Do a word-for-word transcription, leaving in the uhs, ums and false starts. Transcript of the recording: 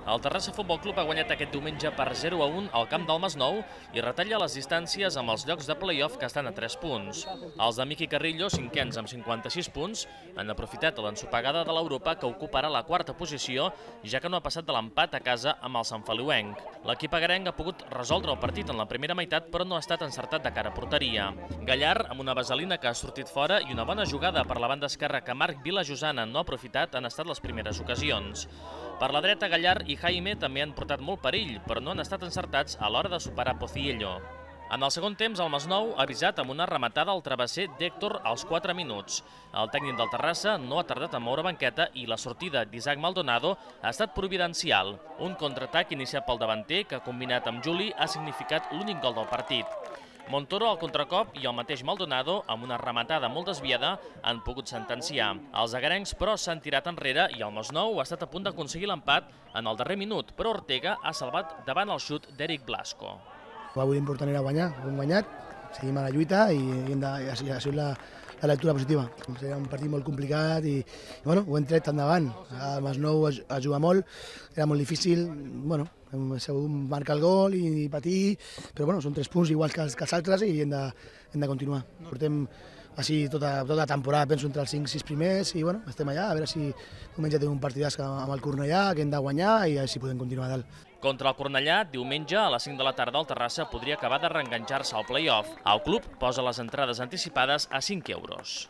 El Terrassa Futbol Club ha guanyat aquest diumenge per zero a un al camp del Masnou i retalla les distàncies amb els llocs de play-off que estan a tres punts. Els de Miqui Carrillo, cinquens amb cinquanta-sis punts, han aprofitat l'ensopegada de l'Europa que ocuparà la quarta posició, ja que no ha passat de l'empat a casa amb el Sant Feliuenc. L'equip agarenc ha pogut resoldre el partit en la primera meitat, però no ha estat encertat de cara a porteria. Gallar, amb una vaselina que ha sortit fora i una bona jugada per la banda esquerra que Marc Vilajosana no ha aprofitat, han estat les primeres ocasions. Per la dreta, Gallar i Jaime també han portat molt perill, però no han estat encertats a l'hora de superar Pociello. En el segon temps, el Masnou ha avisat amb una rematada al travesser d'Héctor als quatre minuts. El tècnic del Terrassa no ha tardat a moure banqueta i la sortida d'Isaac Maldonado ha estat providencial. Un contraatac iniciat pel davanter que, combinat amb Juli, ha significat l'únic gol del partit. Montoro al contracop i el mateix Maldonado, amb una rematada molt desviada, han pogut sentenciar. Els agarencs, però, s'han tirat enrere i el Masnou ha estat a punt d'aconseguir l'empat en el darrer minut, però Ortega ha salvat davant el xut d'Eric Blasco. Avui l'important era guanyar, hem guanyat, seguim a la lluita i hem de, ha sigut la, la lectura positiva. Era un partit molt complicat i, i bueno, ho hem tret endavant. El Masnou a, a jugar molt, era molt difícil, bueno, hem sabut marcar el gol i, i patir, però bueno, són tres punts iguals que els, que els altres i hem de, hem de continuar. Portem així tota, tota la temporada, penso, entre els cinc sis primers i bueno, estem allà, a veure si diumenge tenim un partidàs amb el Cornellà, que hem de guanyar i a veure si podem continuar dalt. Contra el Cornellà, diumenge a les cinc de la tarda el Terrassa podria acabar de reenganxar-se al play-off. El club posa les entrades anticipades a cinc euros.